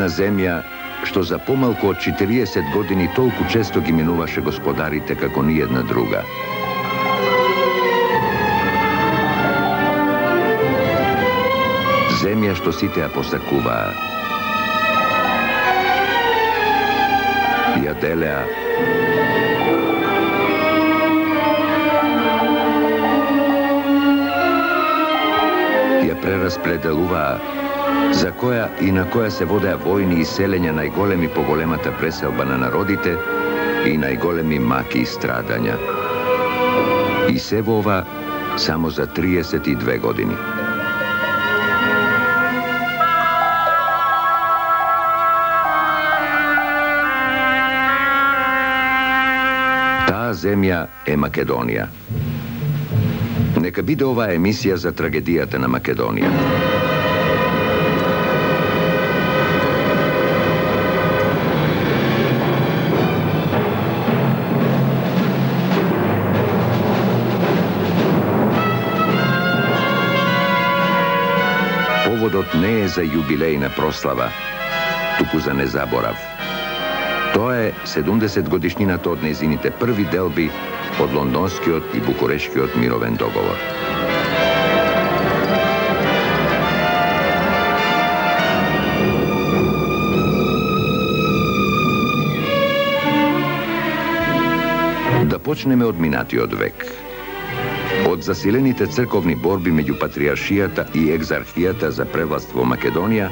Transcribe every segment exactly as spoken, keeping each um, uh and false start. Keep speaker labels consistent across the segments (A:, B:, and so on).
A: една земја што за помалку од четириесет години толку често ги минуваше господарите како ни една друга. Земја што сите ја посакуваа. Ја делеа. Ја прераспределуваа, за која и на која се водеа војни и селења најголеми по големата преселба на народите и најголеми маки и страдања. И се во ова само за триесет и две години. Таа земја е Македонија. Нека биде оваа емисија за трагедијата на Македонија. Поводот не е за јубилејна прослава, туку за незаборав. Тоа е седумдесет годишнината од нејзините први делби од Лондонскиот и Букурешкиот мировен договор. Да почнеме од минатиот век. Од засилените црковни борби меѓу патриаршијата и екзархијата за превласт во Македонија,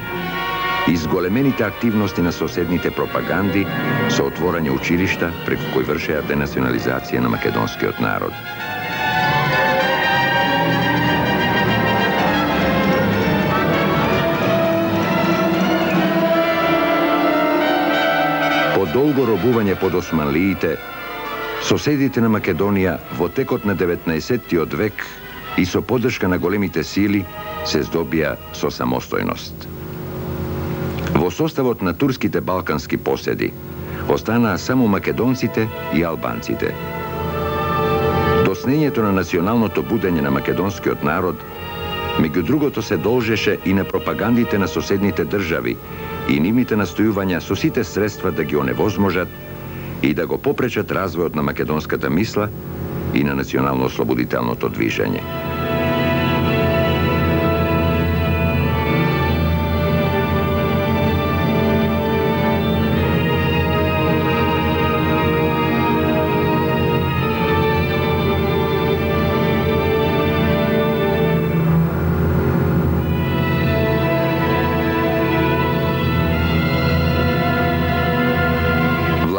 A: изголемените активности на соседните пропаганди со отворање училишта преку кои вршеа денационализација на македонскиот народ. По долго робување под османлиите, соседите на Македонија во текот на деветнаесеттиот век и со поддршка на големите сили се здобија со самостојност. Во составот на турските балкански поседи останаа само македонците и албанците. Доснењето на националното будење на македонскиот народ, меѓу другото, се должеше и на пропагандите на соседните држави и нивните настојувања со сите средства да ги оневозможат и да го попречат развојот на македонската мисла и на национално-ослободителното движење.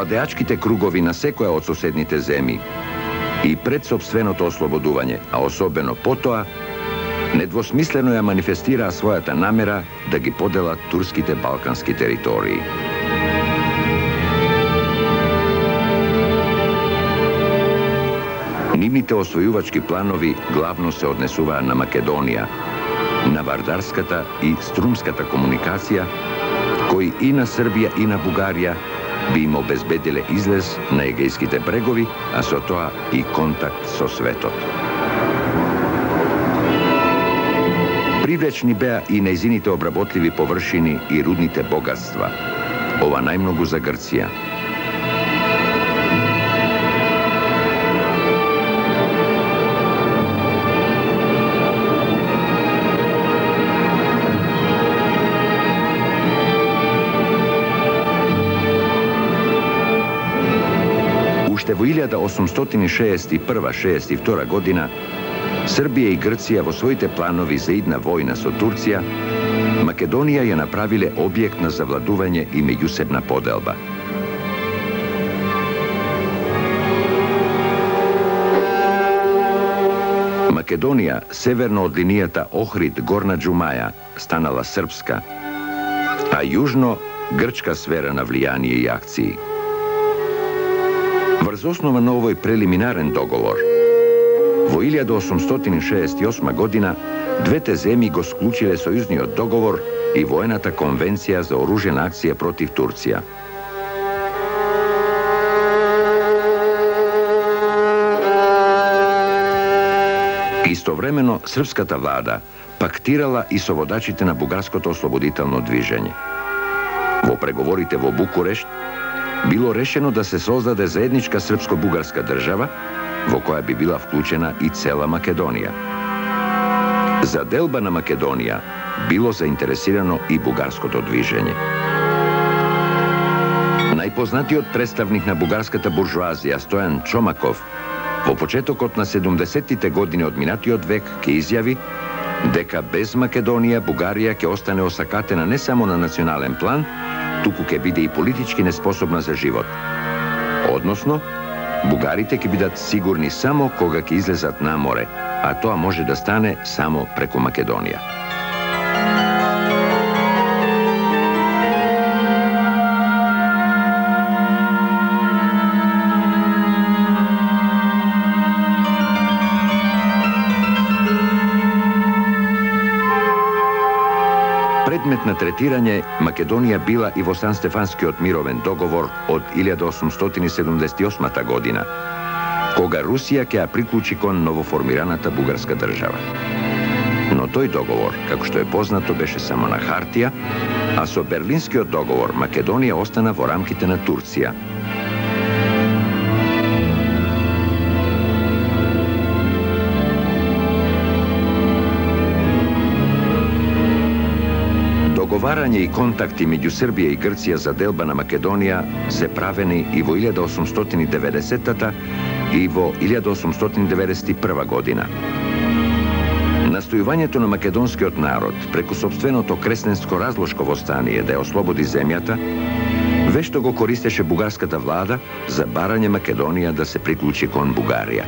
A: Владеачките кругови на секоја од соседните земји и пред сопственото ослободување, а особено потоа, недвосмислено ја манифестираа својата намера да ги поделат турските балкански територии. Нивните освојувачки планови главно се однесуваа на Македонија, на вардарската и струмската комуникација, кои и на Србија и на Бугарија би им обезбедиле излез на Егејските брегови, а со тоа и контакт со светот. Привлечни беа и нејзините обработливи површини и рудните богатства, ова најмногу за Грција. Уште во илјада осумстотини шеесет и прва - шеесет и втора година, Србија и Грција во своите планови за идна војна со Турција, Македонија ја направиле објект на завладување и меѓусебна поделба. Македонија, северно од линијата Охрид-Горна Џумаја, станала српска, а јужно грчка сфера на влијание и акции. Врз основа на овој прелиминарен договор, во илјада осумстотини шеесет и осма година, двете земји го склучиле сојузниот договор и воената конвенција за оружена акција против Турција. Истовремено, српската влада пактирала и со водачите на бугарското ослободително движење. Во Во преговорите во Букурешт било решено да се создаде заедничка српско-бугарска држава, во која би била вклучена и цела Македонија. За делба на Македонија било заинтересирано и бугарското движење. Најпознатиот представник на бугарската буржуазија Стојан Чомаков во почетокот на седумдесеттите години од минатиот век ќе изјави дека без Македонија Бугарија ќе остане осакатена не само на национален план, туку ќе биде и политички неспособна за живот. Односно, бугарите ќе бидат сигурни само кога ќе излезат на море, а тоа може да стане само преку Македонија. Предмет на третирање Македонија била и во Сан-Стефанскиот мировен договор од илјада осумстотини седумдесет и осма година, кога Русија ќе ја приклучи кон новоформираната бугарска држава. Но тој договор, како што е познато, беше само на хартија, а со Берлинскиот договор Македонија остана во рамките на Турција. Договарање и контакти меѓу Србија и Грција за делба на Македонија се правени и во илјада осумстотини деветдесеттата и во илјада осумстотини деветдесет и прва година. Настојувањето на македонскиот народ преку сопственото кресненско разлошко востание да ја ослободи земјата, вешто го користеше бугарската влада за барање Македонија да се приклучи кон Бугарија.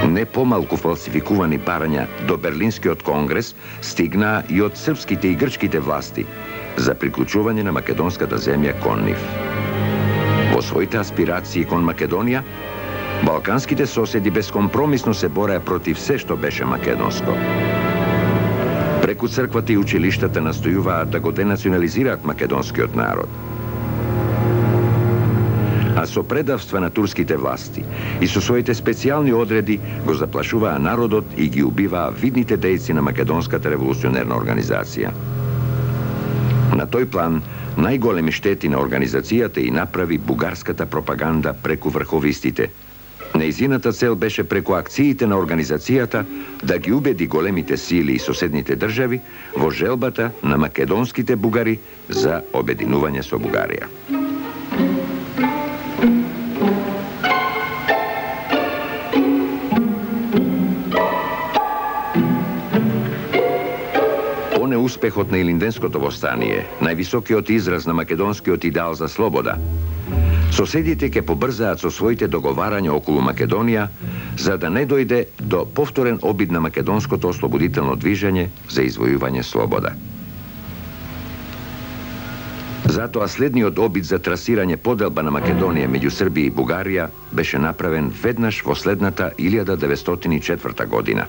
A: Не помалку фалсификувани барања до Берлинскиот конгрес стигнаа и од српските и грчките власти за приклучување на македонската земја кон нив. Во своите аспирации кон Македонија, балканските соседи бескомпромисно се бореа против се што беше македонско. Преку црквата и училиштата настојуваат да го денационализираат македонскиот народ. А со предавства на турските власти и со своите специјални одреди го заплашуваа народот и ги убиваа видните дејци на македонската револуционерна организација. На тој план, најголеми штети на организацијата и направи бугарската пропаганда преку врховистите. Нејзината цел беше преку акциите на организацијата да ги убеди големите сили и соседните држави во желбата на македонските бугари за обединување со Бугарија. Успехот на Илинденското востание, највисокиот израз на македонскиот идеал за слобода, соседите ќе побрзаат со своите договарања околу Македонија, за да не дојде до повторен обид на македонското ослободително движење за извојување слобода. Затоа следниот обид за трасирање поделба на Македонија меѓу Србија и Бугарија беше направен веднаш во следната илјада деветстотини и четврта година.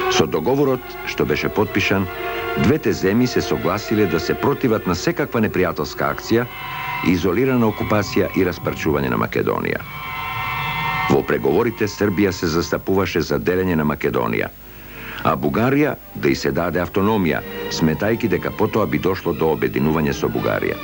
A: Со договорот, што беше потпишан, двете земји се согласиле да се противат на секаква непријателска акција, изолирана окупација и распарчување на Македонија. Во преговорите Србија се застапуваше за делење на Македонија, а Бугарија да и се даде автономија, сметајки дека потоа би дошло до обединување со Бугарија.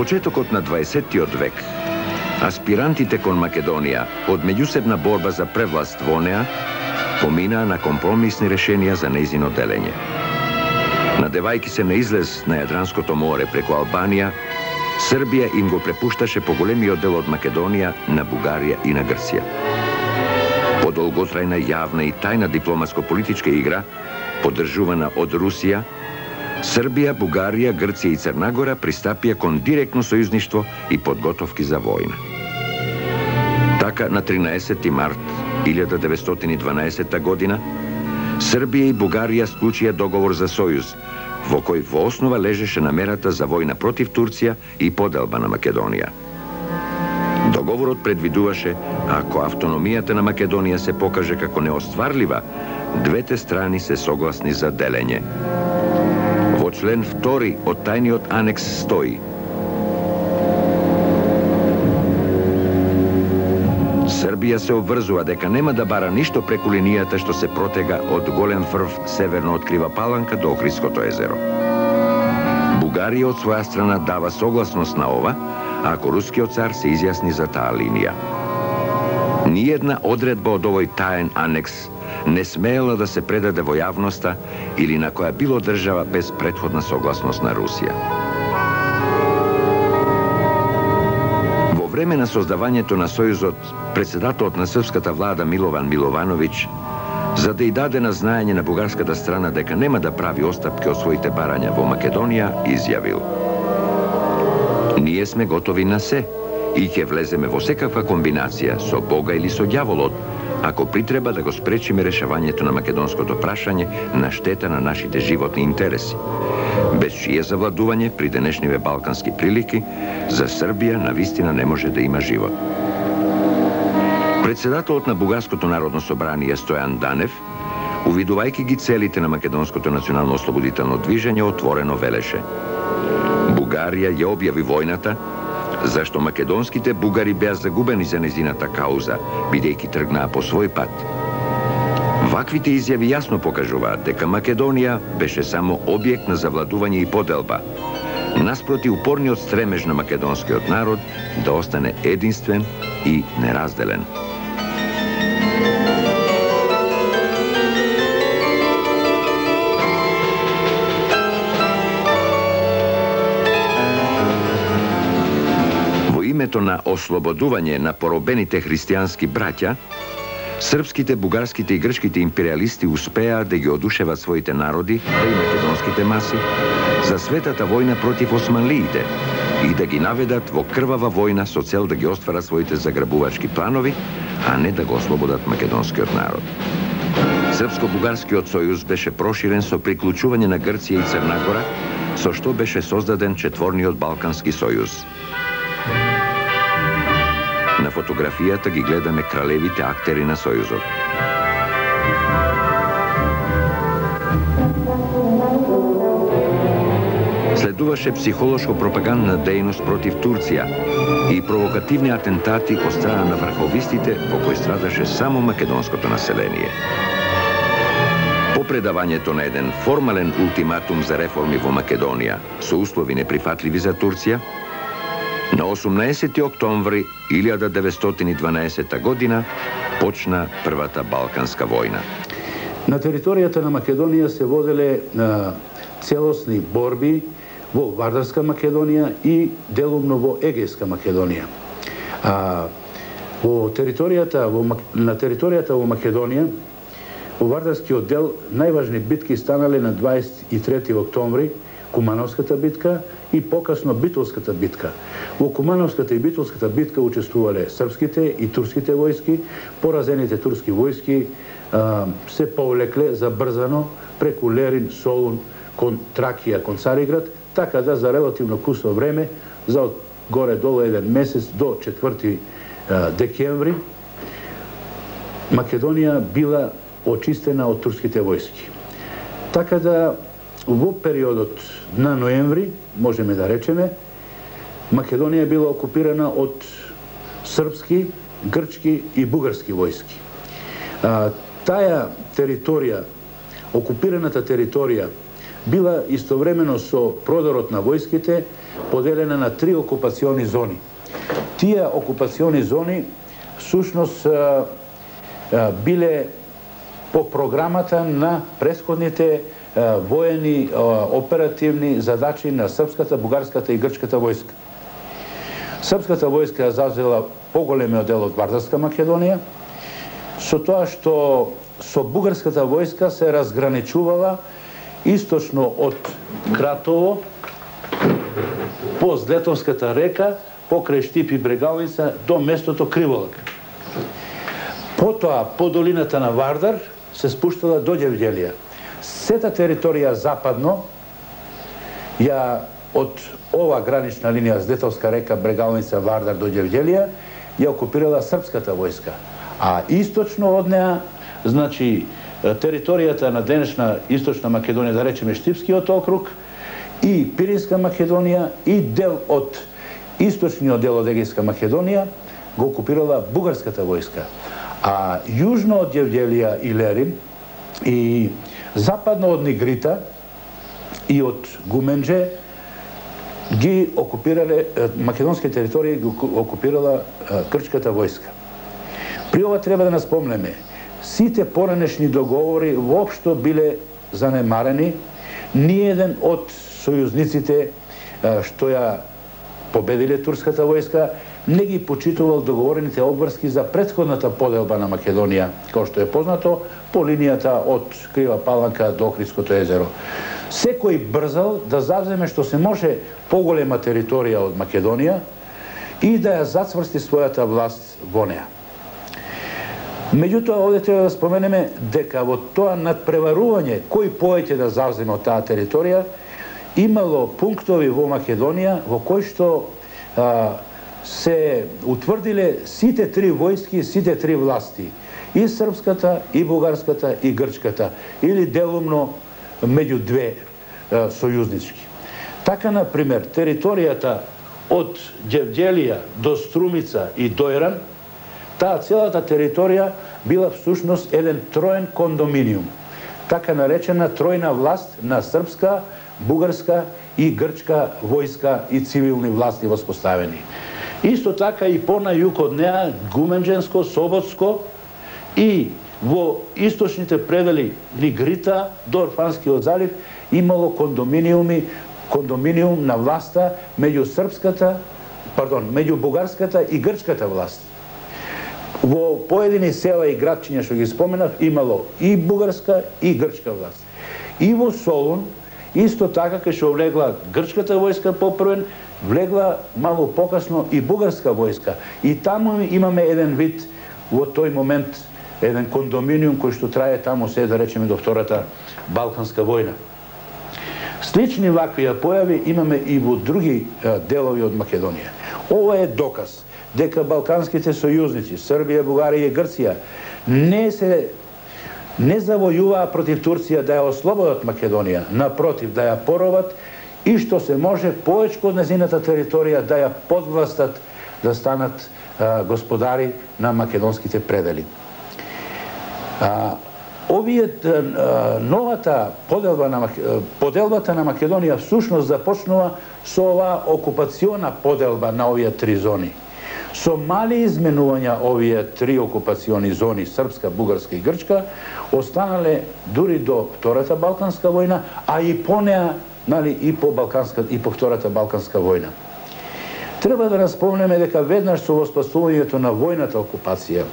A: Почетокот на дваесеттиот век, аспирантите кон Македонија од меѓусебна борба за превласт во неа поминаа на компромисни решенија за нејзино делење. Надевајки се на излез на Јадранското море преку Албанија, Србија им го препушташе поголемиот дел од Македонија на Бугарија и на Грција. По долготрајна јавна и тајна дипломатско-политичка игра, поддржувана од Русија, Србија, Бугарија, Грција и Црна Гора пристапија кон директно сојузништво и подготовки за војна. Така, на тринаесети март илјада деветстотини и дванаесетта година, Србија и Бугарија склучија договор за сојуз, во кој во основа лежеше намерата за војна против Турција и поделба на Македонија. Договорот предвидуваше, ако автономијата на Македонија се покаже како неостварлива, двете страни се согласни за делење. Во член втори од тајниот анекс стои Србија се обврзува дека нема да бара ништо преку линијата што се протега од Голем Фрв северно од Крива Паланка до Охридското езеро. Бугарија од своја страна дава согласност на ова, ако рускиот цар се изјасни за таа линија. Ниедна одредба од овој таен анекс не смеела да се предаде во јавноста или на која било држава без претходна согласност на Русија. Во време на создавањето на Сојузот, председателот на српската влада Милован Миловановиќ, за да и даде на знаење на бугарската страна дека нема да прави остапки од своите барања во Македонија, изјавил: "Ние сме готови на се и ќе влеземе во секаква комбинација со Бога или со ѓаволот, ако притреба да го спречиме решавањето на македонското прашање на штета на нашите животни интереси, без чие завладување при денешниве балкански прилики за Србија навистина не може да има живот." Председателот на Бугарското народно собрание Стојан Данев, увидувајќи ги целите на македонското национално ослободително движење, отворено велеше: "Бугарија ја објави војната зашто македонските бугари беа загубени за незината кауза, бидејќи тргнаа по свој пат." Ваквите изјави јасно покажуваат дека Македонија беше само објект на завладување и поделба, наспроти упорниот стремеж на македонскиот народ да остане единствен и неразделен. Во името на ослободување на поробените христијански браќа, српските, бугарските и грчките империалисти успеа да ги одушеват своите народи, да и македонските маси, за светата војна против османлиите и да ги наведат во крвава војна со цел да ги остварат своите заграбувачки планови, а не да го ослободат македонскиот народ. Српско-бугарскиот сојуз беше проширен со приклучување на Грција и Црна Гора, со што беше создаден четворниот Балкански сојуз. На фотографијата ги гледаме кралевите актери на Сојузот. Следуваше психолошко-пропагандна дејност против Турција и провокативни атентати од страна на врховистите, во кои страдаше само македонското население. По предавањето на еден формален ултиматум за реформи во Македонија со услови неприфатливи за Турција, на осумнаесети октомври илјада деветстотини и дванаесета година почна првата Балканска војна.
B: На територијата на Македонија се воделе а, целосни борби во Вардарска Македонија и делумно во Егејска Македонија. А, во територијата, во, на територијата во Македонија, во Вардарскиот дел, најважни битки станале на дваесет и трети октомври, Кумановската битка и покасно Битолската битка. Во Кумановската и Битолската битка учествувале српските и турските војски. Поразените турски војски а, се повлекле забрзано преку Лерин, Солун, кон Тракија, кон Цариград, така да за релативно кусно време, за од горе-долу еден месец до четврти декември, Македонија била очистена од турските војски. Така да во периодот на ноември, можеме да речеме, Македонија била окупирана од српски, грчки и бугарски војски. А, таа територија, окупираната територија, била истовремено со продорот на војските поделена на три окупациони зони. Тие окупациони зони всушност а, а, биле по програмата на претходните воени оперативни задачи на српската, бугарската и грчката војска. Српската војска зазела поголемиот дел од Вардарска Македонија, со тоа што со бугарската војска се разграничувала источно од Кратово, по Злетовската река, покрај Штип и Брегалница до местото Криволак. Потоа, по долината на Вардар, се спуштала до Ѓевѓелија. Сета територија западно, ја од ова гранична линија Злетовска река, Брегалница, Вардар до Ѓевѓелија, ја окупирала српската војска. А источно од неа, значи, територијата на денешна Источна Македонија, да речеме Штипскиот округ, и Пиринска Македонија, и дел од источниот дел од Егејска Македонија, го окупирала бугарската војска. А јужно од Јевгелија и Лерин и западно од Нигрита и од Гумендже ги окупирале, македонски територии ги окупирала грчката војска. При ова треба да наспомнеме, сите поранешни договори воопшто биле занемарени, ниеден од сојузниците што ја победиле турската војска не ги почитувал договорените обврски за претходната поделба на Македонија, како што е познато, по линијата од Крива Паланка до Охридското езеро. Секој брзал да завземе што се може поголема територија од Македонија и да ја зацврсти својата власт во неа. Меѓутоа, овде треба да споменеме дека во тоа надпреварување кој повеќе да завземе од таа територија, имало пунктови во Македонија во кои што а, се утврдиле сите три војски, сите три власти, и српската, и бугарската, и грчката, или делумно меѓу две а, сојузнички. Така, например, територијата од Ѓевѓелија до Струмица и Дојран, таа целата територија била всушност еден троен кондоминиум, така наречена тројна власт на српска, бугарска и грчка војска и цивилни власти воспоставени. Исто така и по на југ од неа, Гуменџенско, Соботско и во источните предели Нигрита до Орфанскиот залив имало кондоминиуми, кондоминиум на власта меѓу српската, пардон, меѓу бугарската и грчката власт. Во поедини села и градчиња што ги споменав имало и бугарска и грчка власт. И во Солун исто така кај што влегла грчката војска попрвен, влегла малку покасно и бугарска војска. И таму имаме еден вид во тој момент еден кондоминиум кој што трае таму се да речеме до Втората Балканска војна. Слични вакви појави имаме и во други делови од Македонија. Ова е доказ дека балканските сојузници, Србија, Бугарија и Грција, не се не завојуваа против Турција да ја ослободат Македонија, напротив, да ја поробат и што се може повечко од незината територија да ја подвластат, да станат а, господари на македонските предели. А, овие а, новата поделба на поделбата на Македонија всушност започнува со оваа окупациона поделба на овие три зони. Со мали изменувања овие три окупациони зони, српска, бугарска и грчка, останале дури до Втората Балканска војна, а и по неа, нали, и по Балканска и по Втората Балканска војна. Треба да распомнеме дека веднаш со воспоставувањето на војната окупација,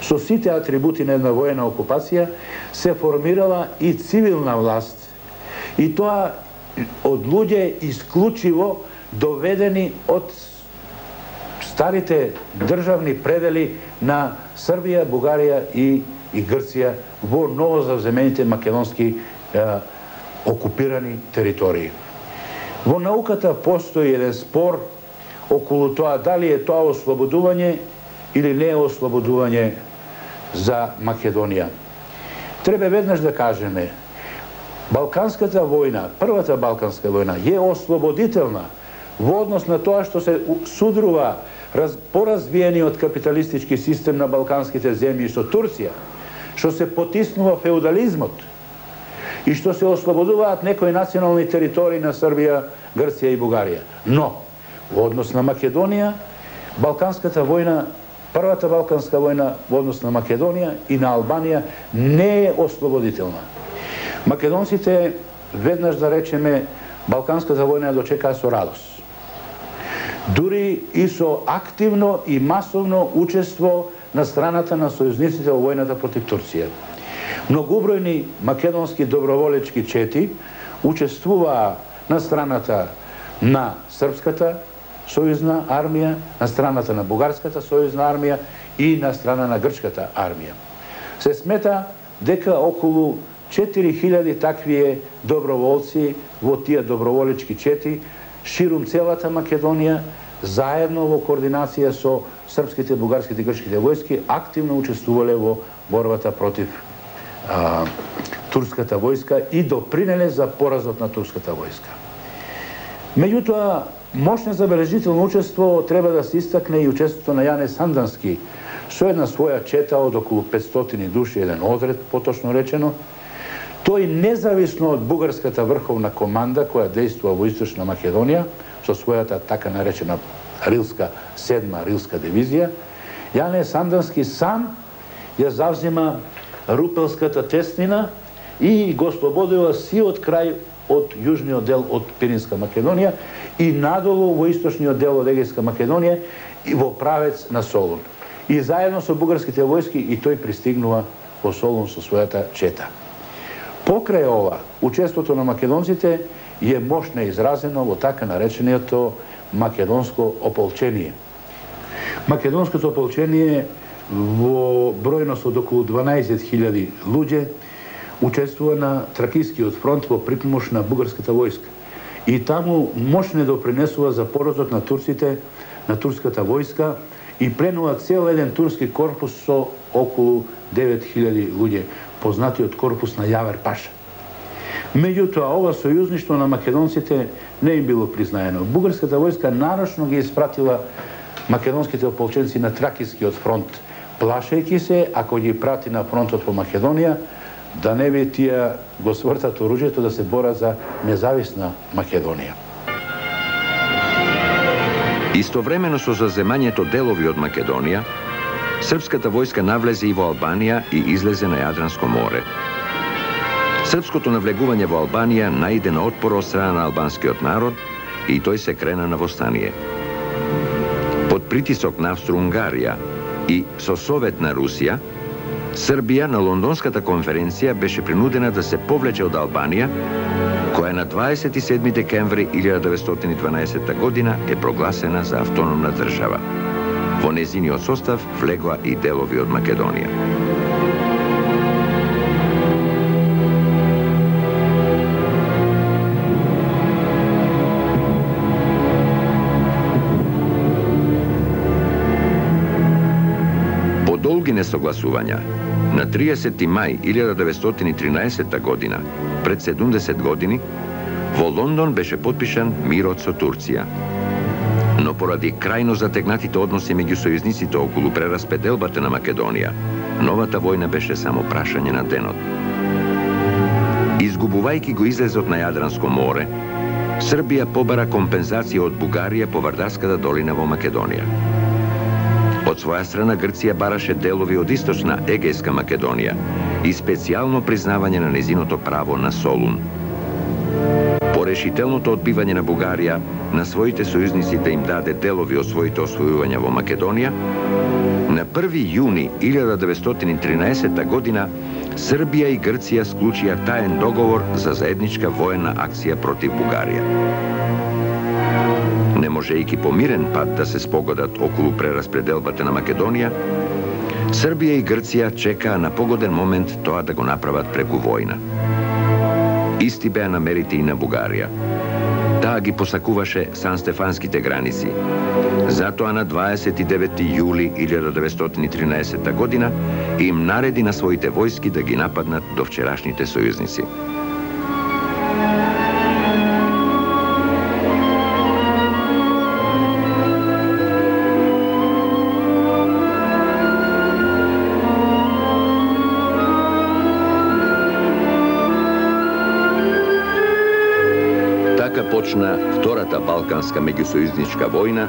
B: со сите атрибути на една војна окупација, се формирала и цивилна власт. И тоа од луѓе исклучиво доведени од старите државни предели на Србија, Бугарија и, и Грција во новозавземените македонски е, окупирани територии. Во науката постои еден спор околу тоа дали е тоа ослободување или не е ослободување за Македонија. Треба веднаш да кажеме, Балканската војна, првата Балканска војна, е ослободителна во однос на тоа што се судрува раз, поразвиениот капиталистички систем на балканските земји со Турција, што се потиснува феудализмот и што се ослободуваат некои национални територии на Србија, Грција и Бугарија. Но, во однос на Македонија, Балканската војна, првата Балканска војна во однос на Македонија и на Албанија не е ослободителна. Македонците, веднаш да речеме, Балканската војна ја дочекаа со радост. Дури и со активно и масовно учество на страната на сојузниците во војната против Турција. Многобројни македонски доброволечки чети учествуваа на страната на српската сојузна армија, на страната на бугарската сојузна армија и на страна на грчката армија. Се смета дека околу четири хиляди такви доброволци во тие доброволечки чети ширум целата Македонија, заедно во координација со српските, бугарските и грчките војски, активно учествувале во борбата против а, турската војска и допринеле за поразот на турската војска. Меѓутоа, Мощно забележително учество треба да се истакне и учеството на Јане Сандански, со една своја чета од околу петстотини души, еден одред, поточно речено. Тој независно од бугарската врховна команда која действува во Источна Македонија, со својата така наречена Рилска, седма Рилска дивизија, Јане Сандански сам ја завзема Рупелската теснина и го слободува сиот крај од јужниот дел од Пиринска Македонија и надолу во источниот дел од Егејска Македонија и во правец на Солун. И заедно со бугарските војски и тој пристигнува во Солун со својата чета. Покрај ова, учеството на македонците е мощно изразено во така наречениот македонско ополчение. Македонското ополчение во бројност од околу дванаесет хиљади луѓе учествува на Тракискиот фронт во припомош на бугарската војска. И таму мощно допринесува за поразот на турците, на турската војска и пленува цел еден турски корпус со околу девет хиљади луѓе, познатиот корпус на Јавер Паша. Меѓутоа, ова сојузништво на македонците не им било признаено. Бугарската војска нарочно ги испратила македонските ополченци на Тракискиот фронт, плашејќи се, ако ги прати на фронтот по Македонија, да не би тие го свртат оружјето да се борат за независна Македонија.
A: Истовремено со заземањето делови од Македонија, српската војска навлезе и во Албанија и излезе на Јадранско море. Српското навлегување во Албанија најде на отпор од страна на албанскиот народ и тој се крена на востание. Под притисок на Австро-Унгарија и со совет на Русија, Србија на Лондонската конференција беше принудена да се повлече од Албанија, која на дваесет и седми декември илјада деветстотини и дванаесетта година е прогласена за автономна држава. Во незиниот состав влегоа и делови од Македонија. По долги несогласувања, на триесети мај илјада деветстотини и тринаесетта година, пред седумдесет години, во Лондон беше потпишан мирот со Турција. Но поради крајно затегнатите односи меѓу сојузниците околу прераспределбата на Македонија, новата војна беше само прашање на денот. Изгубувајќи го излезот на Јадранско море, Србија побара компензација од Бугарија по Вардарската долина во Македонија. Од своја страна Грција бараше делови од источна Егејска Македонија и специјално признавање на незиното право на Солун. По решителното одбивање на Бугарија, на своите сојузници да им даде делови од своите освојувања во Македонија, на први јуни илјада деветстотини и тринаесетта година Србија и Грција склучија таен договор за заедничка воена акција против Бугарија. Не можејќи по мирен пат да се спогодат околу прераспределбата на Македонија, Србија и Грција чекаа на погоден момент тоа да го направат преку војна. Исти беа намерите и на Бугарија. Таа ги посакуваше Сан-Стефанските граници. Затоа на дваесет и девети јули илјада деветстотини и тринаесетта година им нареди на своите војски да ги нападнат до вчерашните сојузници. Почна втората балканска меѓусојузничка војна,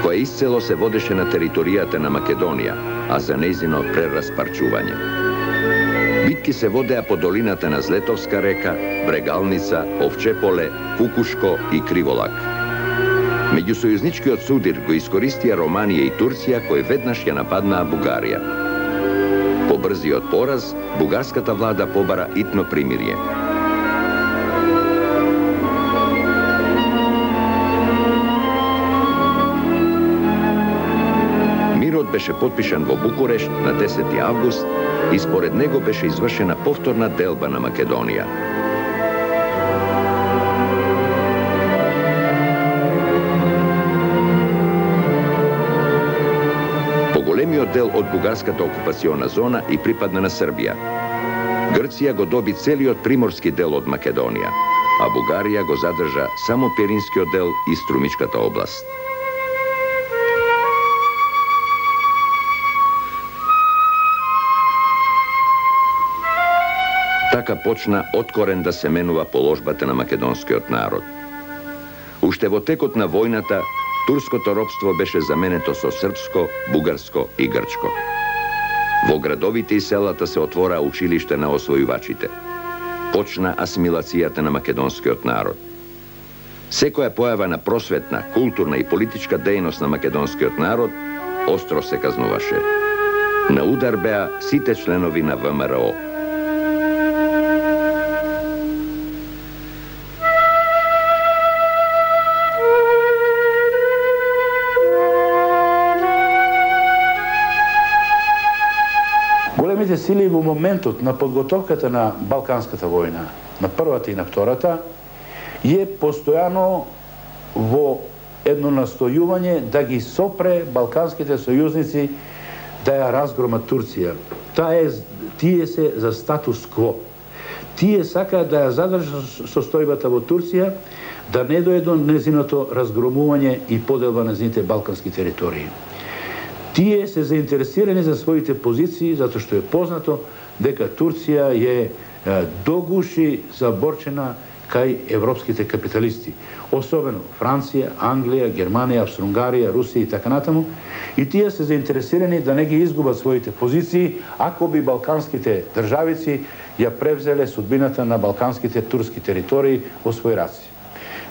A: која исцело се водеше на територијата на Македонија, а за нејзино прераспарчување. Битки се водеа по долината на Злетовска река, Брегалница, Овчеполе, Кукушко и Криволак. Меѓусојузничкиот судир го искористија Романија и Турција, кои веднаш ја нападнаа Бугарија. По брзиот пораз, бугарската влада побара итно примирие. Беше потпишан во Букурешт на десети август и според него беше извршена повторна делба на Македонија. Поголемиот дел од бугарската окупациона зона и припадна на Србија. Грција го доби целиот приморски дел од Македонија, а Бугарија го задржа само Пиринскиот дел и Струмичката област. Така почна откорен да се менува положбата на македонскиот народ. Уште во текот на војната, турското робство беше заменето со српско, бугарско и грчко. Во градовите и селата се отвора училиште на освојувачите. Почна асимилацијата на македонскиот народ. Секоја појава на просветна, културна и политичка дејност на македонскиот народ остро се казнуваше. На удар беа сите членови на ВМРО.
B: Големите сили во моментот на подготовката на Балканската војна, на првата и на втората, е постојано во едно настојување да ги сопре балканските сојузници да ја разгрома Турција. Таа е, тие се за статус кво. Тие сакаат да ја задржат состојбата во Турција, да не дојде до незиното разгромување и поделба на незините балкански територии. Тие се заинтересирани за своите позиции, затоа што е познато дека Турција е догуши заборчена кај европските капиталисти, особено Франција, Англија, Германија, Австро-Унгарија, Русија и така натаму, и тие се заинтересирани да не ги изгубат своите позиции, ако би балканските државици ја превзеле судбината на балканските турски територии во своји раци.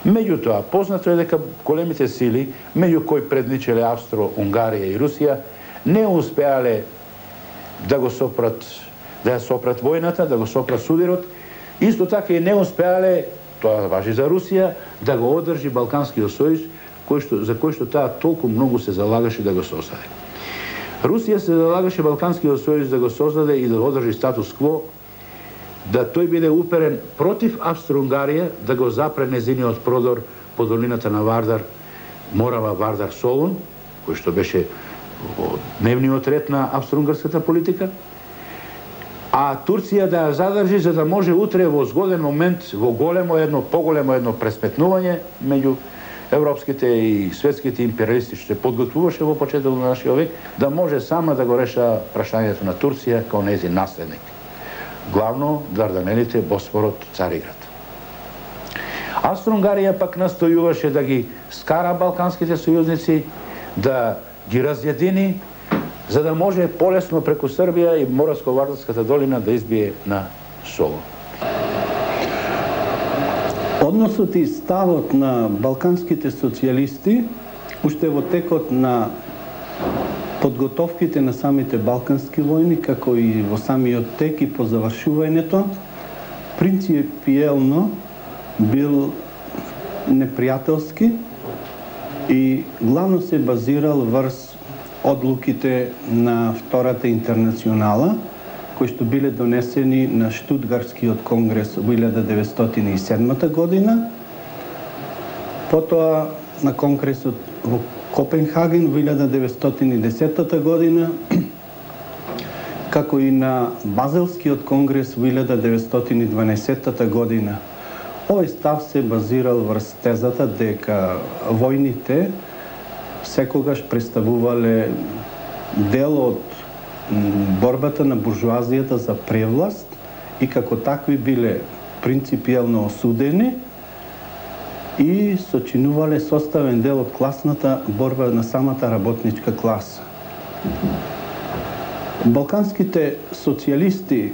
B: Меѓутоа, познато е дека големите сили, меѓу кои предличеле Австро, Унгарија и Русија, не успеале да го сопрат, да ја сопрат војната, да го сопрат судирот. Исто така и не успеале, тоа важи за Русија, да го одржи Балканскиот сојуз, кој што, за кој што таа толку многу се залагаше да го создаде. Русија се залагаше Балканскиот сојуз да го создаде и да одржи статус кво, да тој биде уперен против Австро-Унгарија, да го запре незиниот продор по долината на Вардар, Морава, Вардар, Солун, кој што беше во дневниот ред на австро-унгарската политика, а Турција да ја задржи за да може утре во згоден момент, во големо едно, поголемо едно пресметнување меѓу европските и светските империалисти што се подготвуваше во почетокот на нашиот век, да може сама да го реша прашањето на Турција као нејзин наследник. Главно Дарданелите, Босфорот, Цариград. Австро-Унгарија пак настојуваше да ги скара балканските сојузници, да ги разједини, за да може полесно преку Србија и Моравско-Вардарската долина да избие на Солун.
C: Односот и ставот на балканските социјалисти уште во текот на подготовките на самите балкански војни, како и во самиот тек и по завршувањето, принципиелно бил непријателски и главно се базирал врз одлуките на Втората интернационала, кои што биле донесени на Штутгартскиот конгрес во илјада деветстотини и седма година, потоа на конгресот во Копенхаген во илјада деветстотини и десета година, како и на Базелскиот конгрес во илјада деветстотини и дванаесетта година. Овој став се базирал врз тезата дека војните секогаш представувале дел од борбата на буржуазијата за превласт и како такви биле принципиелно осудени и сочинувале составен дел од класната борба на самата работничка класа. Балканските социјалисти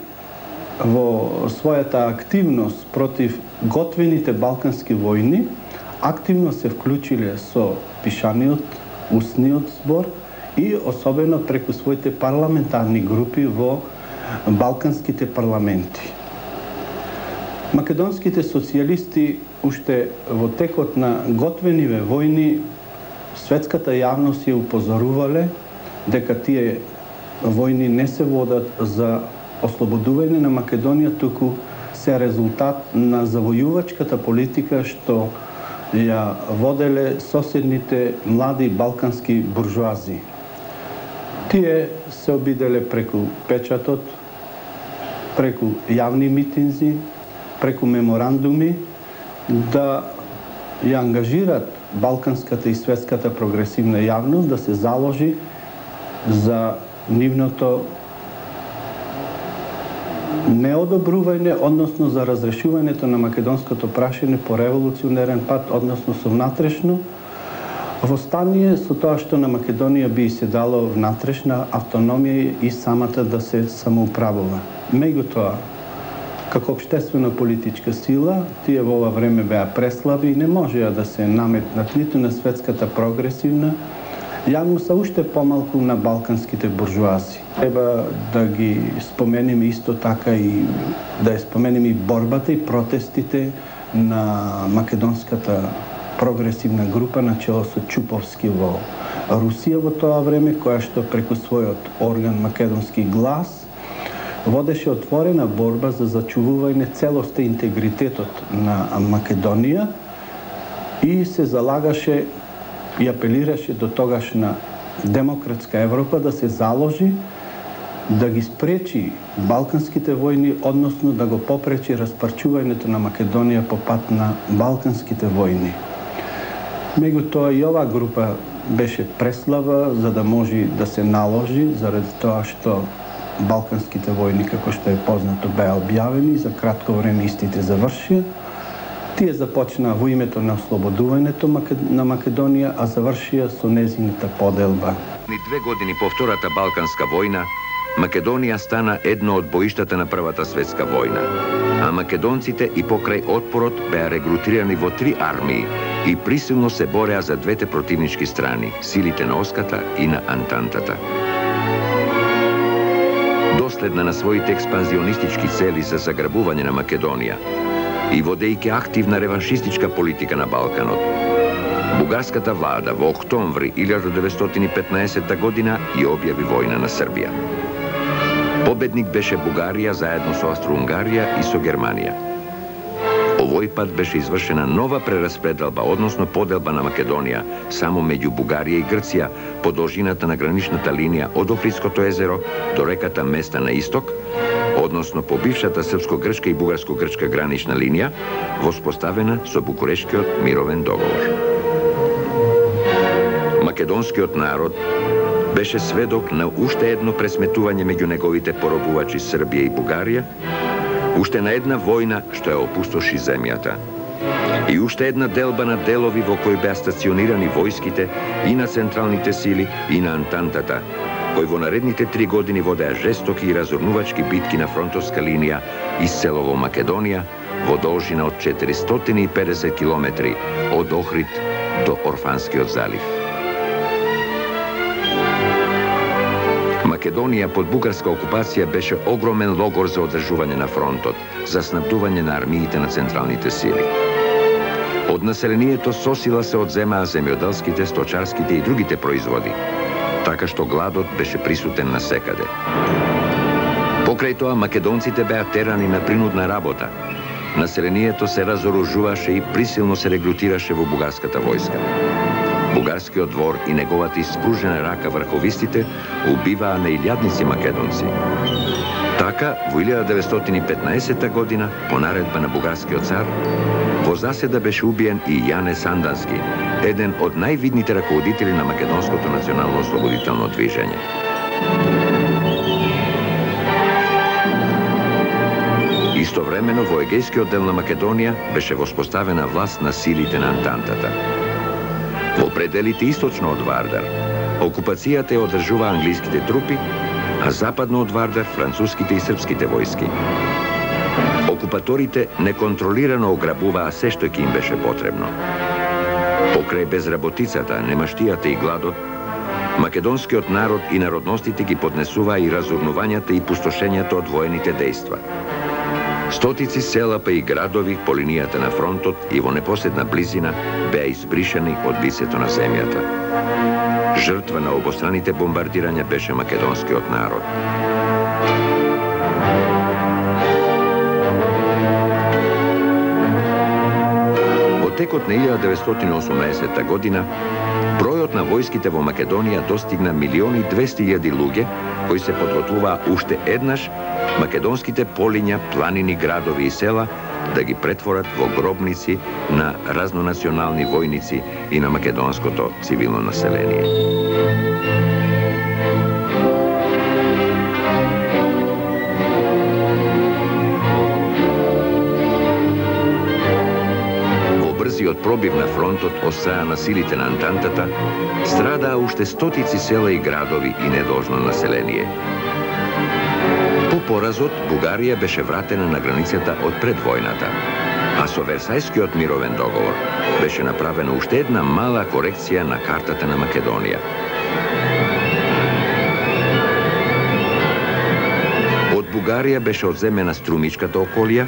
C: во својата активност против готвените балкански војни активно се вклучиле со пишаниот, устниот збор и особено преку своите парламентарни групи во балканските парламенти. Македонските социјалисти уште во текот на готвениве војни светската јавност ја упозорувале дека тие војни не се водат за ослободување на Македонија, туку се резултат на завојувачката политика што ја воделе соседните млади балкански буржуази. Тие се обиделе преку печатот, преку јавни митинзи, преку меморандуми да ја ангажират балканската и светската прогресивна јавност да се заложи за нивното неодобрување, односно за разрешувањето на македонското прашање по револуционерен пат, односно со внатрешно, во стание со тоа што на Македонија би се дало внатрешна автономија и самата да се самоуправува. Меѓутоа, како општествена политичка сила, тие во ова време беа преслаби и не можеа да се наметнат ниту на светската прогресивна јавност, а уште помалку на балканските буржуази. Треба да ги спомениме исто така и да ја спомениме и борбата и протестите на македонската прогресивна група на чело со Чуповски во Русија во тоа време, која што преку својот орган Македонски глас водеше отворена борба за зачувување целоста и интегритетот на Македонија и се залагаше и апелираше до тогашна демократска Европа да се заложи да ги спречи балканските војни, односно да го попречи распарчувањето на Македонија по пат на балканските војни. Меѓутоа и оваа група беше преслаба за да може да се наложи, заради тоа што балканските војни, како што е познато, беа објавени и за кратко време истите завршија. Тие започнаа во името на ослободувањето на Македонија, а завршија со незината поделба.
A: Ни две години по втората Балканска војна, Македонија стана едно од боиштата на Првата светска војна, а македонците и покрај отпорот беа регрутирани во три армии и присилно се бореа за двете противнички страни, силите на Оската и на Антантата. Доследна на своите експанзионистички цели за заграбување на Македонија и водејќи активна реваншистичка политика на Балканот, бугарската влада во октомври илјадум деветстотини и петнаесетта година ја објави војна на Србија. Победник беше Бугарија заедно со Австро-Унгарија и со Германија. Овој пат беше извршена нова прераспределба, односно поделба на Македонија само меѓу Бугарија и Грција по должината на граничната линија од Охридското езеро до реката Места на исток, односно по бившата српско-грчка и бугарско-грчка гранична линија, воспоставена со Букурештскиот мировен договор. Македонскиот народ беше сведок на уште едно пресметување меѓу неговите поробувачи Србија и Бугарија, уште на една војна што ја опустоши земјата и уште една делба на делови во кои беа стационирани војските и на централните сили и на Антантата, кои во наредните три години водеа жестоки и разорнувачки битки на фронтовска линија из селово Македонија во должина од четиристотини и педесет километри од Охрид до Орфанскиот залив. Македонија под бугарска окупација беше огромен логор за одржување на фронтот, за снабдување на армиите на централните сили. Од населението сосила се одземаа земјоделските, сточарските и другите производи, така што гладот беше присутен насекаде. Покрај тоа, македонците беа терани на принудна работа. Населението се разоружуваше и присилно се регрутираше во бугарската војска. Бугарскиот двор и неговата испружена рака врховистите убиваа на илјадници македонци. Така, во илјадум деветстотини и петнаесетта година, по наредба на бугарскиот цар, во заседа беше убиен и Јане Сандански, еден од највидните раководители на македонското национално ослободително движење. Истовремено во егејскиот дел на Македонија беше воспоставена власт на силите на Антантата. Во пределите источно од Вардар, окупацијата ја одржува англиските трупи, а западно од Вардар француските и српските војски. Окупаторите неконтролирано ограбуваа се што ќе им беше потребно. Покрај безработицата, немаштијата и гладот, македонскиот народ и народностите ги поднесуваа и разурнувањата и пустошењата од воените дејства. Стотици села па и градови по линијата на фронтот и во непосредна близина беа избришани од лицето на земјата. Жртва на обостраните бомбардирања беше македонскиот народ. Во текот на илјадум деветстотини и осумнаесетта година, бројот на војските во Македонија достигна милиони и двесте илјади луѓе, кои се подготвуваа уште еднаш македонските полиња, планини, градови и села да ги претворат во гробници на разнонационални војници и на македонското цивилно население. Брзиот пробив на фронтот од страна на силите на Антантата страдаа уште стотици села и градови и недолжно население. По поразот, Бугарија беше вратена на границата од пред војната, а со Версајскиот мировен договор беше направена уште една мала корекција на картата на Македонија. Од Бугарија беше одземена Струмичката околија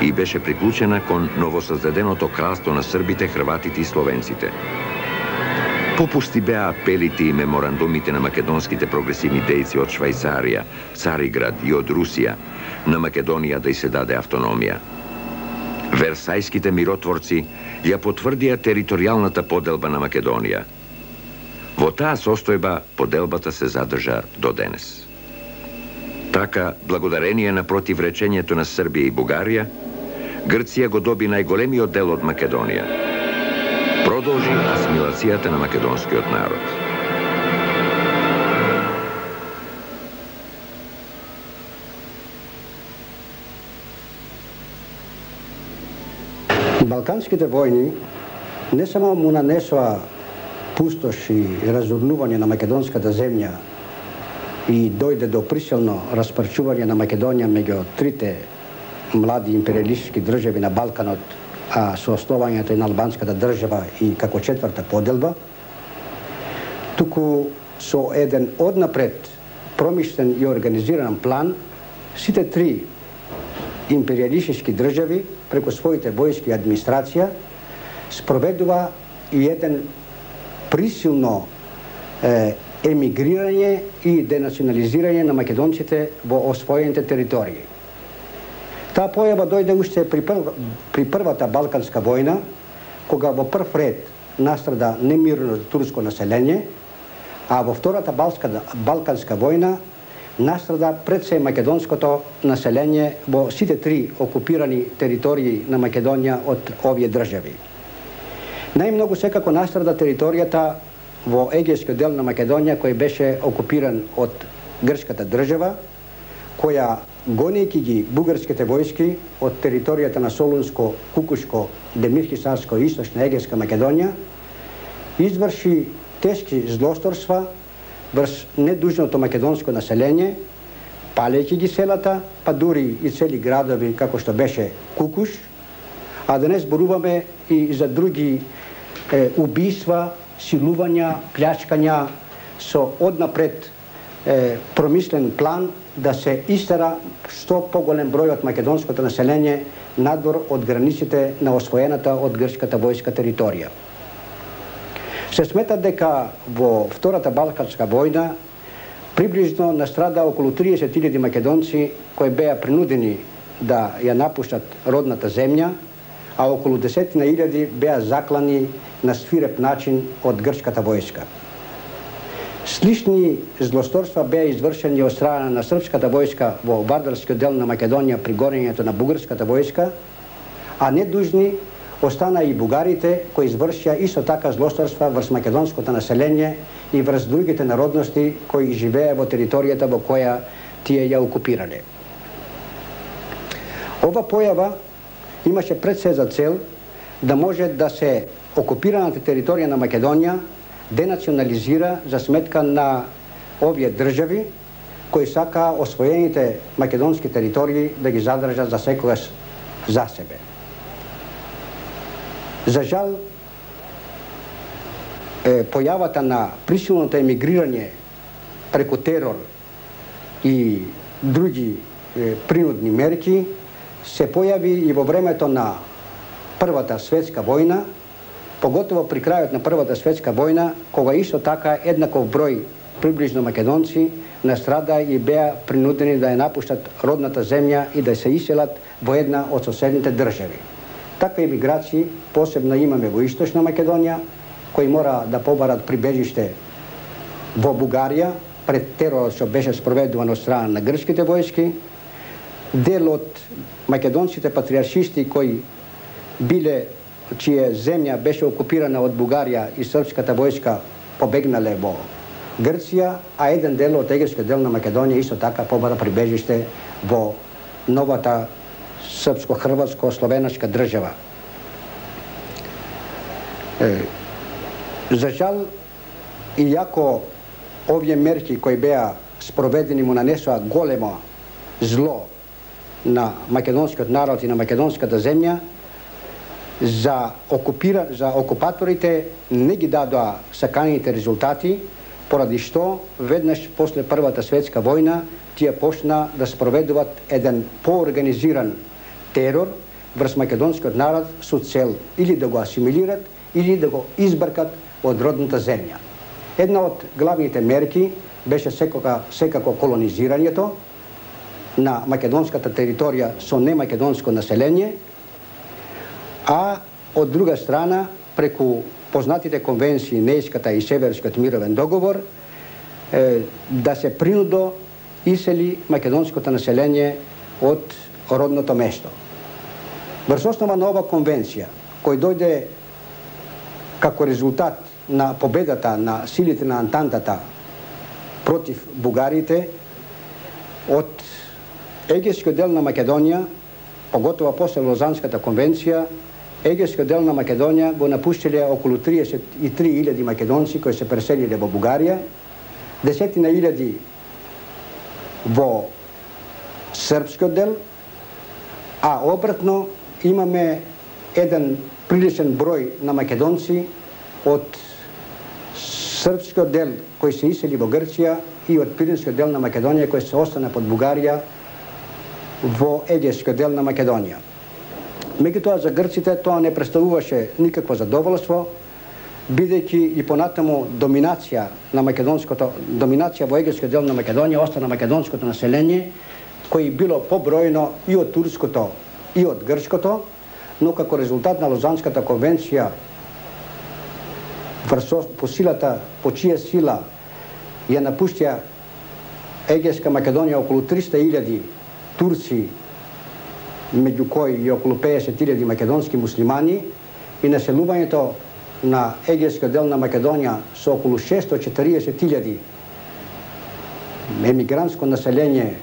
A: и беше приклучена кон новосоздаденото кралство на србите, хрватите и словенците. Попусти беа апелите и меморандумите на македонските прогресивни дејци од Швајцарија, Цариград и од Русија на Македонија да й се даде автономија. Версајските миротворци ја потврдија територијалната поделба на Македонија. Во таа состојба поделбата се задржа до денес. Така, благодарение на противречењето на Србија и Бугарија, Грција го доби најголемиот дел од Македонија. Продолжи асимилацијата на македонскиот народ.
D: Балканските војни не само му нанесоа пустош и разурнување на македонската земја и дојде до присилно распарчување на Македонија меѓу трите млади империалистички држави на Балканот, а со основањето и на албанската држава и како четврта поделба, туку со еден однапред промишлен и организиран план, сите три империалистички држави преку своите војски и администрација спроведува и еден присилно е, емигрирање и денационализирање на македонците во освоените територии. Таа појава дојде уште при, прв, при првата Балканска војна, кога во прв ред настрада немирно турско население, а во втората Балканска војна настрада пред се македонското население во сите три окупирани територии на Македонија од овие држави. Најмногу секако настрада територијата во егејскиот дел на Македонија, кој беше окупиран од грчката држава, која гонејќи ги бугарските војски од територијата на Солунско, Кукушко, Демирхисарско и Источна егејска Македонија, изврши тешки злосторства врз недужното македонско население, палејќи ги селата, па дури и цели градови како што беше Кукуш, а да не зборуваме и за други е, убиства, силувања, плячкања со однапред е, промислен план да се истера што поголем број од македонското население надвор од границите на освоената од грчката војска територија. Се смета дека во втората Балканска војна приближно настрада околу триесет илјади македонци кои беа принудени да ја напуштат родната земја, а околу десетина илјади беа заклани на свиреп начин од грчката војска. Слични злосторства беа извршени од страна на српската војска во вардарскиот дел на Македонија при гонењето на бугарската војска, а недужни остана и бугарите кои извршија исто така злосторства врз македонското население и врз другите народности кои живееа во територијата во која тие ја окупирале. Ова појава имаше пред се за цел да може да се окупираната територија на Македонија денационализира за сметка на овие држави кои сакаа освоените македонски територии да ги задржат за секогаш за себе. За жал, е, појавата на присилното емигрирање преку терор и други е, принудни мерки се појави и во времето на Првата светска војна, поготово при крајот на Првата светска војна, кога исто така еднаков број приближно македонци настрада и беа принудени да ја напуштат родната земја и да се иселат во една од соседните држави. Такви емиграции посебно имаме во Источна Македонија, кои мора да побарат прибежиште во Бугарија пред теророт што беше спроведуван од страна на грчките војски, дел од македонските патриаршисти кои биле, чија земја беше окупирана од Бугарија и српската војска побегнале во Грција, а еден дел од егејскиот дел на Македонија исто така побара прибежиште во новата српско-хрватско-словенашка држава. Е, за жал, иако овие мерки кои беа спроведени му нанесоа големо зло на македонскиот народ и на македонската земја, за, окупира, за окупаторите не ги дадоа саканите резултати, поради што веднаш после Првата светска војна тие почна да спроведуваат еден поорганизиран терор врз македонскиот народ со цел или да го асимилират, или да го избркат од родната земја. Една од главните мерки беше секако, секако колонизирањето на македонската територија со немакедонско население, а од друга страна, преку познатите конвенции, Нејската и Северскиот мировен договор, е, да се принудо исели македонското население од родното место. Врз основа на ова конвенција, кој дојде како резултат на победата на силите на Антантата против бугарите, од егејскиот дел на Македонија, поготово после Лозанската конвенција, егејскиот дел на Македонија го напуштиле околу триесет и три илјади македонци кои се преселиле во Бугарија, десетина илјади во српскиот дел, а обратно имаме еден приличен број на македонци од српскиот дел кои се исели во Грција и од пиринскиот дел на Македонија кои се остана под Бугарија во егејскиот дел на Македонија. Меѓутоа за грците тоа не представуваше никакво задоволство, бидејќи и понатаму доминација на македонското, доминација во егејскиот дел на Македонија остана македонското население, кој било побројно и од турското и од грчкото, но како резултат на Лозанската конвенција, по силата, по чија сила ја напуштија егејска Македонија околу триста илјади турци, меѓу кои и околу пеесет илјади македонски муслимани, и населувањето на егејскиот дел на Македонија со околу шесто и четириесет илјади емигрантско население,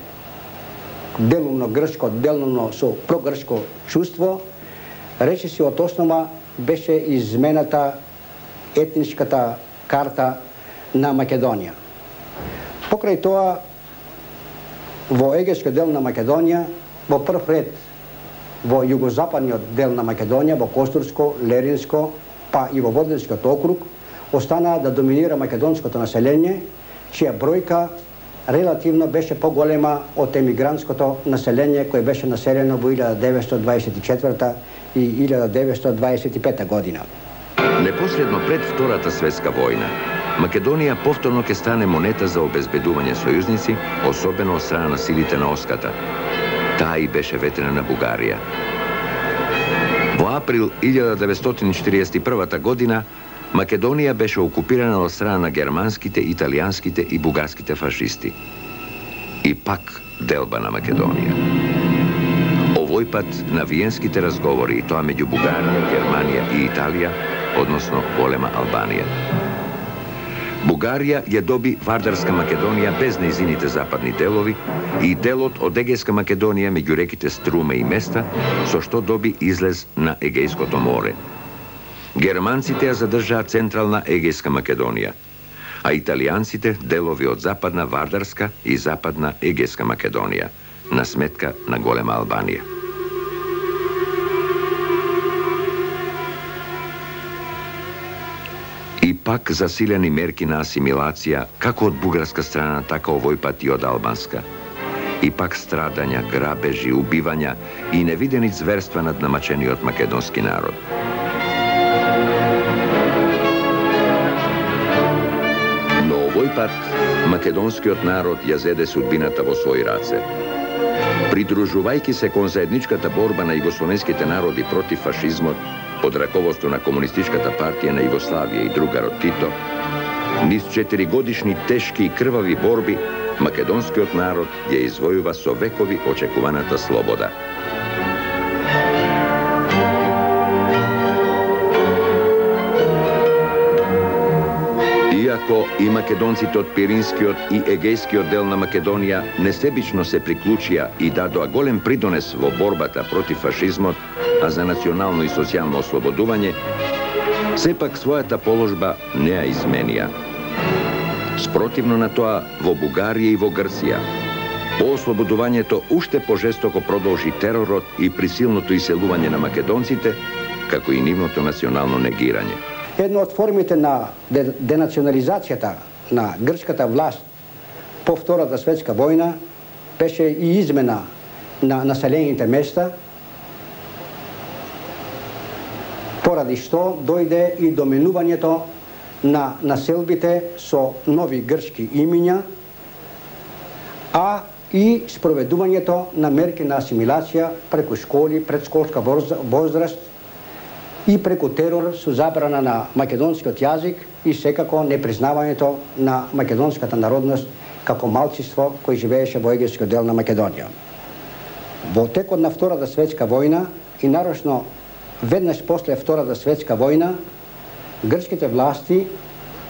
D: делумно грчко, делумно со прогрчко чувство, речиси од основа беше измената етничката карта на Македонија. Покрај тоа, во егејскиот дел на Македонија, во прв ред во југозападниот дел на Македонија, во Костурско, Леринско, па и во Водринскиот округ, останаа да доминира македонското население, чија бројка релативно беше поголема од емигрантското население кој беше населено во илјада деветстотини дваесет и четврта и илјада деветстотини дваесет и пета година.
A: Непосредно пред Втората светска војна, Македонија повторно ќе стане монета за обезбедување сојузници, особено од страна на силите на Оската. Таа и беше ветрена на Бугарија. Во април илјада деветстотини четириесет и прва година Македонија беше окупирана од страна на германските, италијанските и бугарските фашисти. И пак делба на Македонија. Овој пат на виенските разговори, и тоа меѓу Бугарија, Германија и Италија, односно голема Албанија. Бугарија ја доби Вардарска Македонија без нејзините западни делови и делот од Егејска Македонија меѓу реките Струма и Места, со што доби излез на Егејското море. Германците ја задржаа централна Егејска Македонија, а италијанците делови од западна Вардарска и западна Егејска Македонија, на сметка на голема Албанија. И пак засилени мерки на асимилација, како од бугарска страна, така овој пат и од албанска. И пак страдања, грабежи, убивања и невидени зверства над намачениот македонски народ. Но овој пат македонскиот народ ја зеде судбината во своји раце. Придружувајќи се кон заедничката борба на југословенските народи против фашизмот, под раководство на Комунистичката партија на Југославија и другарот Тито, низ четиригодишни тешки и крвави борби, македонскиот народ ја извојува со векови очекуваната слобода. Иако и македонците од Пиринскиот и Егејскиот дел на Македонија несебично се приклучија и дадоа голем придонес во борбата против фашизмот, а за национално и социјално ослободување, сепак својата положба не ја изменија. Спротивно на тоа, во Бугарија и во Грција, по ослободувањето уште пожестоко продолжи теророт и присилното иселување на македонците, како и нивното национално негирање.
D: Една од формите на денационализацијата на грчката власт по Втората светска војна беше и измена на населените места, поради што дојде и доменувањето на населбите со нови грчки имиња, а и спроведувањето на мерки на асимилација преку школи, предшколска возраст и преку терор со забрана на македонскиот јазик и секако непризнавањето на македонската народност како малцинство кој живееше во егејскиот дел на Македонија. Во текот на Втората светска војна и нарочно веднаш после Втората светска војна, грчките власти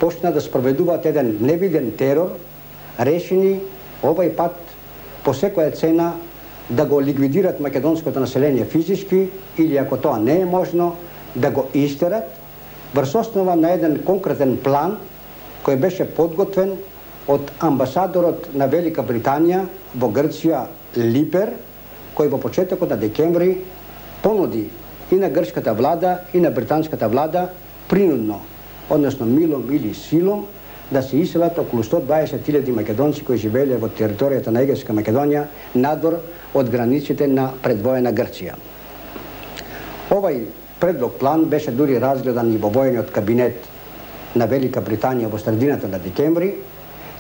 D: почна да спроведуваат еден невиден терор, решени овај пат по секоја цена да го ликвидират македонското население физички или ако тоа не е можно, да го истерат врз основа на еден конкретен план кој беше подготвен од амбасадорот на Велика Британија во Грција Липер, кој во почетокот на декември понуди и на грчката влада и на британската влада принудно, односно милом или силом, да се иселат околу сто дваесет илјади македонци кои живееле во територијата на Егејска Македонија надвор од границите на предвоена Грција. Овај предлог план беше дури разгледан и во војниот кабинет на Велика Британија во средината на декември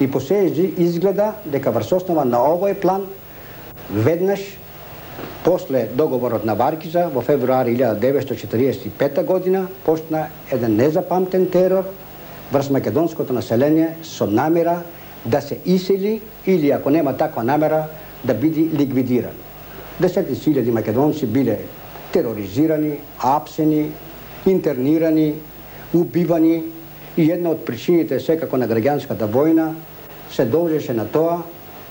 D: и по се изгледа дека врз основа на овој план веднаш после договорот на Варкиза во февруари илјада деветстотини четиридесет и пета година почна еден незапамтен терор врз македонското население со намера да се исели или ако нема таква намера да биде ликвидиран. Десетици илјади македонци биле тероризирани, апсени, интернирани, убивани и една од причините секако на граѓанската војна се должеше на тоа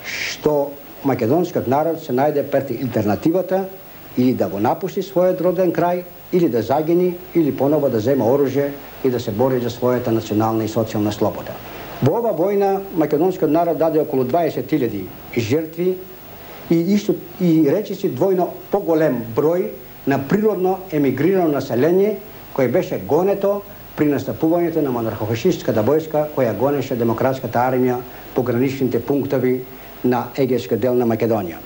D: што македонскиот народ се најде пред алтернативата или да го напусти својот роден крај, или да загини, или поново да зема оружје и да се бори за својата национална и социјална слобода. Во ова војна македонскиот народ даде околу дваесет илјади жртви и исто и речиси двојно поголем број на природно емигрирано население кој беше гонето при настапувањето на монархофашистката војска која гонеше демократската армија по граничните пунктови на егејскиот дел на Македонија.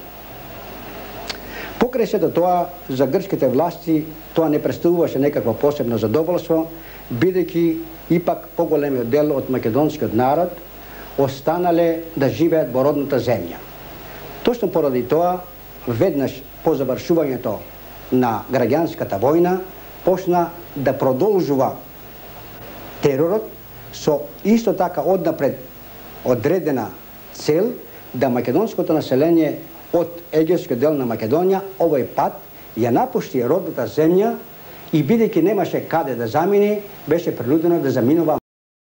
D: Покрај сето тоа, за грчките власти тоа не представуваше некакво посебно задоволство, бидејќи ипак поголемиот дел од македонскиот народ останале да живеат во родната земја. Точно поради тоа, веднаш по завршувањето на граѓанската војна, почна да продолжува теророт со исто така однапред одредена цел да македонското население од егејскиот дел на Македонија овој пат ја напушти родната земја и бидејќи немаше каде да замине, беше принудено да заминува